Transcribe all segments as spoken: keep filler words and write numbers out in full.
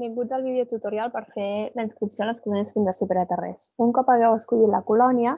Benvinguts al videotutorial per fer la inscripció a les colònies Fundació Pere Tarrés. Un cop hagueu escollit la colònia,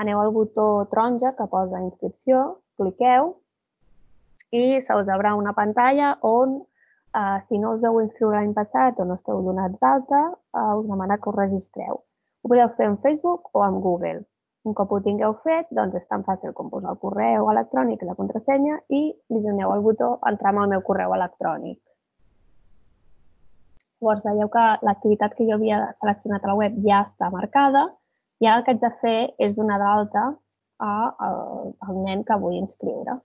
aneu al botó taronja que posa inscripció, cliqueu i se us obre una pantalla on, eh, si no us heu inscriure l'any passat o no esteu donats d'alta, eh, us demana que us registreu. Ho podeu fer en Facebook o en Google. Un cop ho tingueu fet, doncs és tan fàcil com posar el correu electrònic i la contrasenya i li doneu al botó entrar amb el meu correu electrònic. Llavors, veieu que l'activitat que jo havia seleccionat a la web ja està marcada i ara el que haig de fer és donar d'alta al nen que vull inscriure.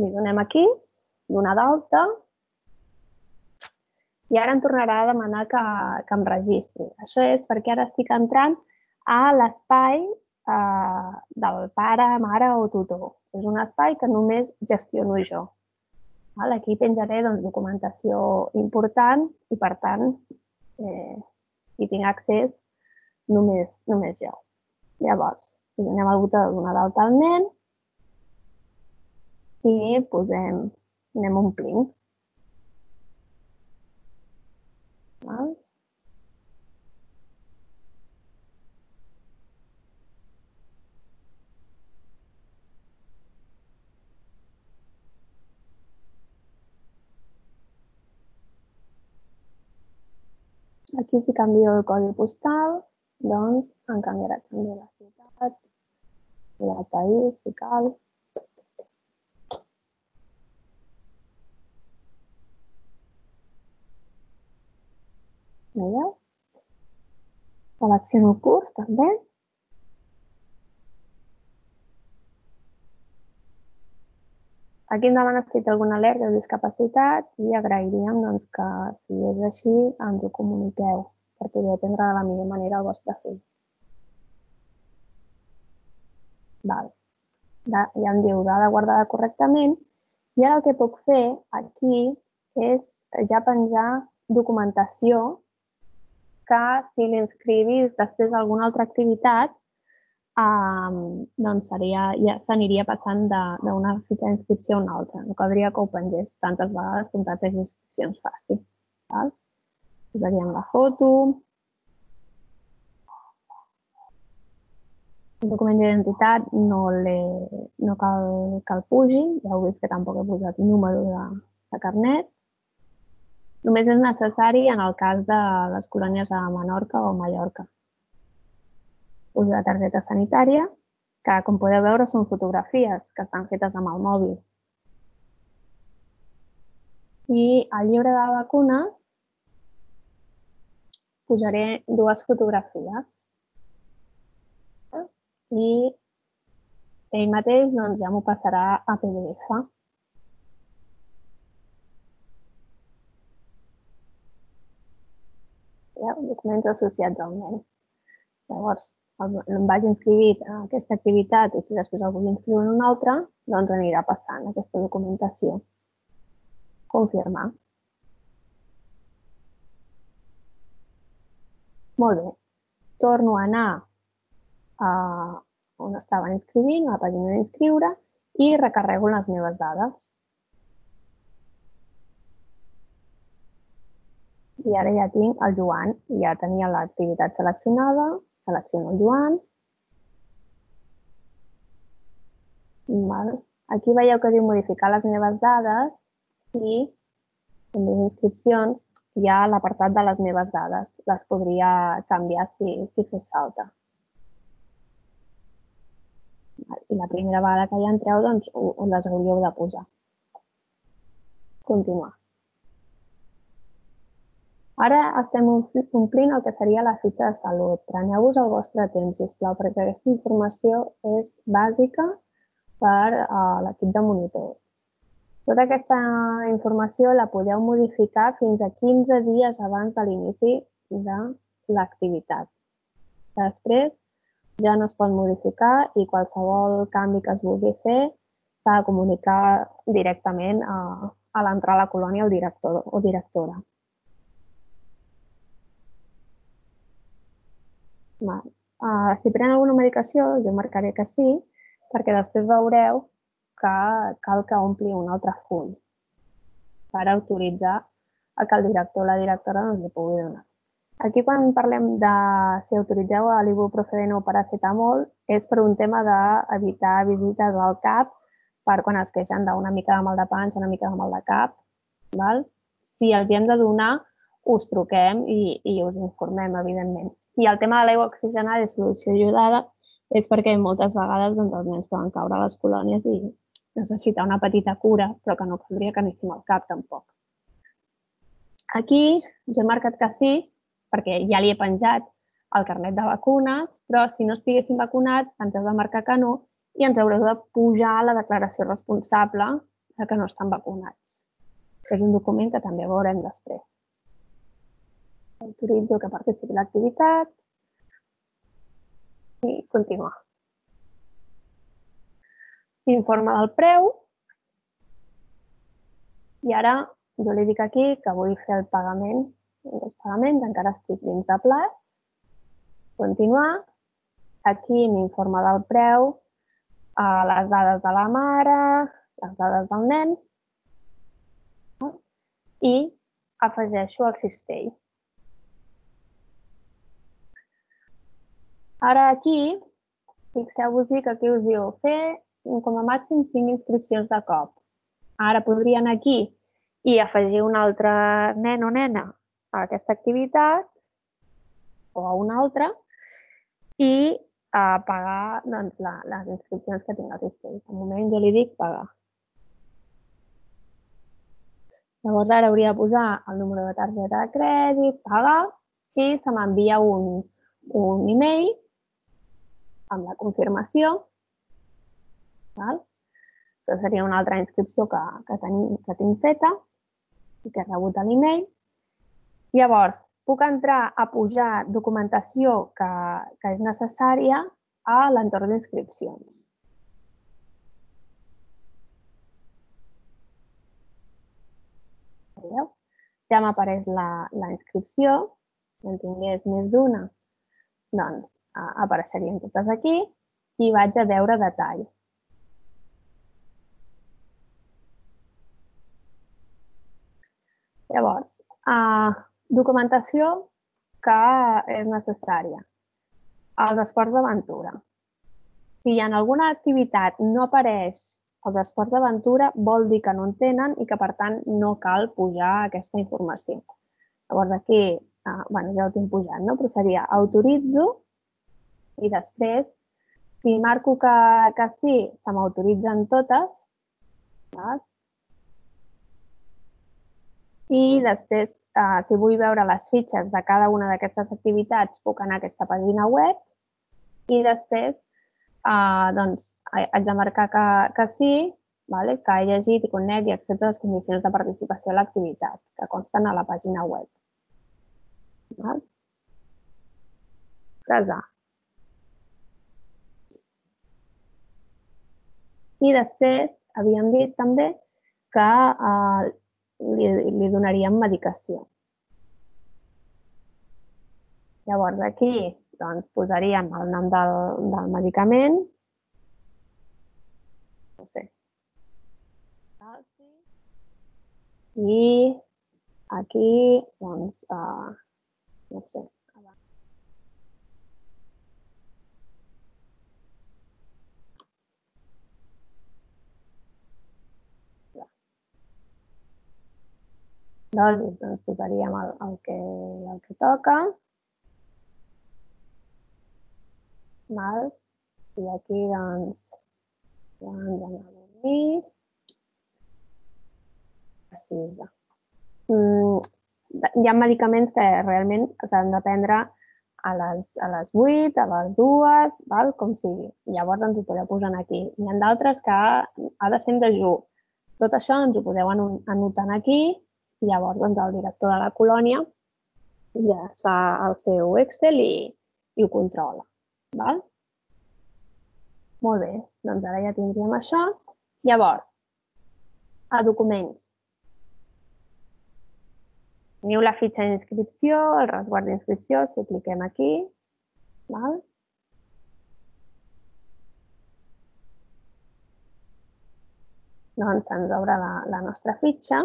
Li donem aquí, donar d'alta, i ara em tornarà a demanar que, que em registri. Això és perquè ara estic entrant a l'espai eh, del pare, mare o tutor. És un espai que només gestiono jo. Aquí penjaré doncs, documentació important i, per tant, eh, hi tinc accés només, només jo. Llavors, donem el botó de donar d'alta al nen i posem, anem omplint. Val? Aquí, si canvio el codi postal, doncs em canviarà també la ciutat i el país, si cal. Veieu? Selecciono el curs, també. Aquí em demana si té alguna al·lèrgia o discapacitat i agrairíem doncs, que, si és així, ens ho comuniqueu per poder atendre de la millor manera el vostre fill. Val. Ja em diu dada guardada correctament i ara el que puc fer aquí és ja penjar documentació que, si l'inscrivís després d'alguna altra activitat, doncs ja s'aniria passant d'una fitxa d'inscripció a una altra. No caldria que ho pengés tantes vegades com tantes inscripcions faci. Posaríem la foto. El document d'identitat no cal que el pugi. Ja heu vist que tampoc he posat número de carnet. Només és necessari en el cas de les colònies a Menorca o Mallorca. Uso la targeta sanitària, que, com podeu veure, són fotografies que estan fetes amb el mòbil. I al llibre de vacunes posaré dues fotografies. I ell mateix ja m'ho passarà a P D F. Documents associats al nen. Llavors, em vaig inscriure en aquesta activitat i si després el vull inscriure en una altra, doncs anirà passant aquesta documentació. Confirmar. Molt bé. Torno a anar on estava inscrivint, a la pàgina d'inscriure, i recarrego les meves dades. I ara ja tinc el Joan, ja tenia l'activitat seleccionada, selecciono el Joan. Aquí veieu que diu modificar les meves dades i en les inscripcions hi ha l'apartat de les meves dades. Les podria canviar si fes falta. I la primera vegada que hi entreu, doncs, les hauríeu de posar. Continuar. Ara estem omplint el que seria la fitxa de salut. Preneu-vos el vostre temps, sisplau, perquè aquesta informació és bàsica per a l'equip de monitors. Tota aquesta informació la podeu modificar fins a quinze dies abans de l'inici de l'activitat. Després ja no es pot modificar i qualsevol canvi que es vulgui fer s'ha de comunicar directament a l'entrar a la colònia el director o directora. Si pren alguna medicació, jo marcaré que sí, perquè després veureu que cal que ompli un altre full per autoritzar a que el director o la directora doncs, li pugui donar. Aquí, quan parlem de si autoritzeu l'ibuprofeno o paracetamol, és per un tema d'evitar visites al cap per quan es queixen d'una mica de mal de panxa, una mica de mal de cap. Val? Si els hi hem de donar, us truquem i, i us informem, evidentment. I el tema de l'aigua oxigenada i solució iodada és perquè moltes vegades doncs, els nens poden caure a les colònies i necessitar una petita cura, però que no caldria que anéssim al cap tampoc. Aquí jo he marcat que sí, perquè ja li he penjat el carnet de vacunes, però si no estiguéssim vacunats ens heu de marcar que no i ens haureu de pujar la declaració responsable de que no estan vacunats. És un document que també veurem després. Autoritzo que participi l'activitat i continuar. Informe del preu. I ara jo li dic aquí que vull fer el pagament, els pagaments, encara estic dins de plaç. Continuar. Aquí m'informa del preu, les dades de la mare, les dades del nen i afegeixo el cistell. Ara aquí, fixeu-vos-hi que aquí us diu fer com a màxim cinc inscripcions de cop. Ara podria anar aquí i afegir un altre nen o nena a aquesta activitat o a una altra i pagar les inscripcions que tinc al cistell. De moment jo li dic pagar. Llavors ara hauria de posar el número de targeta de crèdit, pagar, i se m'envia un e-mail amb la confirmació. Això seria una altra inscripció que tinc feta i que he rebut a l'e-mail. Llavors, puc entrar a pujar documentació que és necessària a l'entorn d'inscripcions. Ja m'apareix la inscripció. Si en tingués més d'una, doncs apareixerien totes aquí i vaig a veure detall. Llavors, documentació que és necessària. Els esports d'aventura. Si en alguna activitat no apareix els esports d'aventura, vol dir que no en tenen i que, per tant, no cal pujar aquesta informació. Llavors, aquí, ja ho tinc pujat, però seria autoritzo i després, si marco que sí, se m'autoritzen totes. I després, si vull veure les fitxes de cada una d'aquestes activitats, puc anar a aquesta pàgina web i després haig de marcar que sí, que he llegit i conec i accepto les condicions de participació a l'activitat, que consten a la pàgina web. Casar. I després havíem dit també que li donaríem medicació. Llavors, aquí posaríem el nom del medicament. No sé. I aquí, doncs, no sé. Dosis, doncs posaríem el que toca. I aquí, doncs, ja ens hem de dormir. Precisa. Hi ha medicaments que realment s'han de prendre a les vuit, a les dues, com sigui. Llavors ens ho podeu posar aquí. Hi ha d'altres que ha de ser en dejú. Tot això ens ho podeu anotar aquí i llavors el director de la colònia ja es fa el seu Excel i ho controla. Molt bé, doncs ara ja tindríem això. Llavors, a documents. Teniu la fitxa d'inscripció, el resguard d'inscripció, si cliquem aquí. Doncs se'ns obre la nostra fitxa.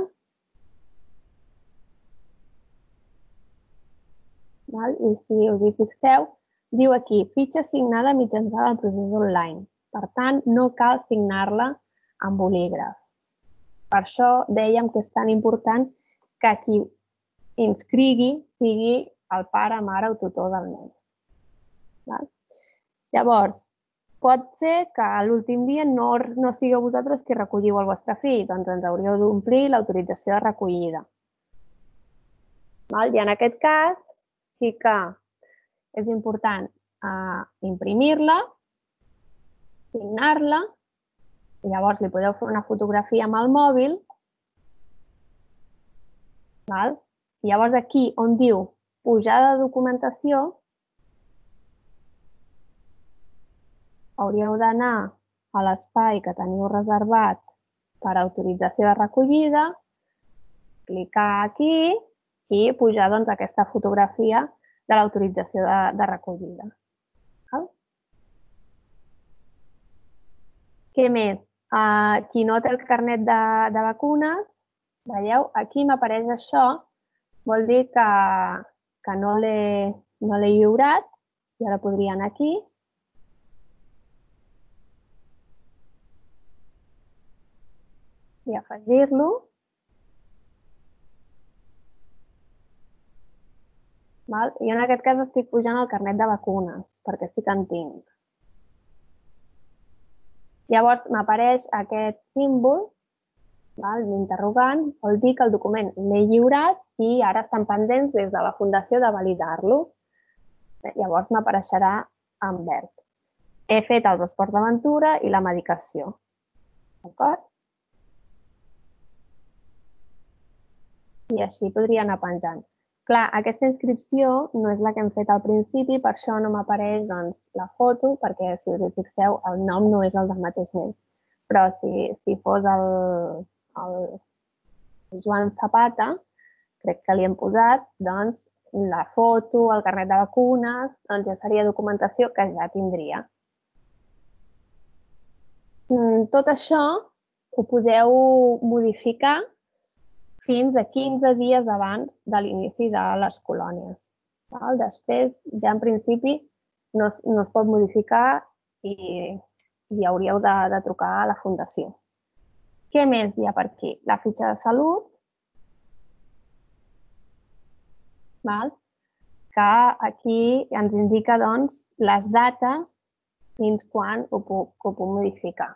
I si us hi fixeu, diu aquí, fitxa signada mitjançant el procés online. Per tant, no cal signar-la amb bolígraf. Per això dèiem que és tan important que qui inscrigui sigui el pare, mare o tutor del nen. Llavors, pot ser que a l'últim dia no, no sigueu vosaltres qui recolliu el vostre fill, doncs ens hauríeu d'omplir l'autorització de recollida. I en aquest cas sí que és important imprimir-la, signar-la, i llavors li podeu fer una fotografia amb el mòbil. I llavors aquí on diu pujada de documentació, hauríeu d'anar a l'espai que teniu reservat per autorització de recollida, clicar aquí i pujar aquesta fotografia de l'autorització de recollida. Què més? Qui no té el carnet de vacunes, veieu, aquí m'apareix això, vol dir que no l'he lliurat, i ara podria anar aquí, i afegir-lo. I en aquest cas estic pujant el carnet de vacunes, perquè sí que en tinc. Llavors m'apareix aquest símbol, l'interrogant, vol dir que el document l'he lliurat i ara estan pendents des de la Fundació de validar-lo. Llavors m'apareixerà en verd. He fet el transport d'aventura i la medicació. D'acord? I així podria anar penjant. Clar, aquesta inscripció no és la que hem fet al principi, per això no m'apareix la foto, perquè si us hi fixeu el nom no és el del mateix nen. Però si fos el Joan Zapata, crec que li hem posat, doncs la foto, el carnet de vacunes, doncs ja seria documentació que ja tindria. Tot això ho podeu modificar fins a quinze dies abans de l'inici de les colònies. Després, ja en principi, no es pot modificar i hauríeu de trucar a la Fundació. Què més hi ha per aquí? La fitxa de salut, que aquí ens indica les dates fins quan ho puc modificar.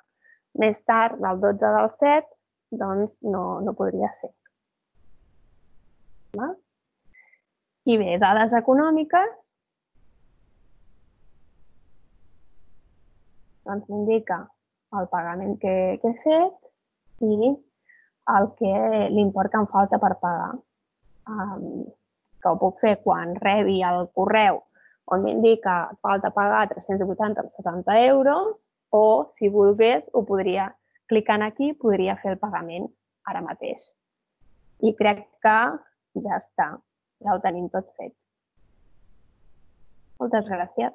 Més tard, del dotze del set, doncs no podria ser. I bé, dades econòmiques, doncs m'indica el pagament que he fet i l'import que em falta per pagar. Que ho puc fer quan rebi el correu on m'indica que falta pagar tres-cents vuitanta coma setanta euros o, si volgués, ho podria, clicant aquí, podria fer el pagament ara mateix. I crec que ja està, ja ho tenim tot fet. Moltes gràcies.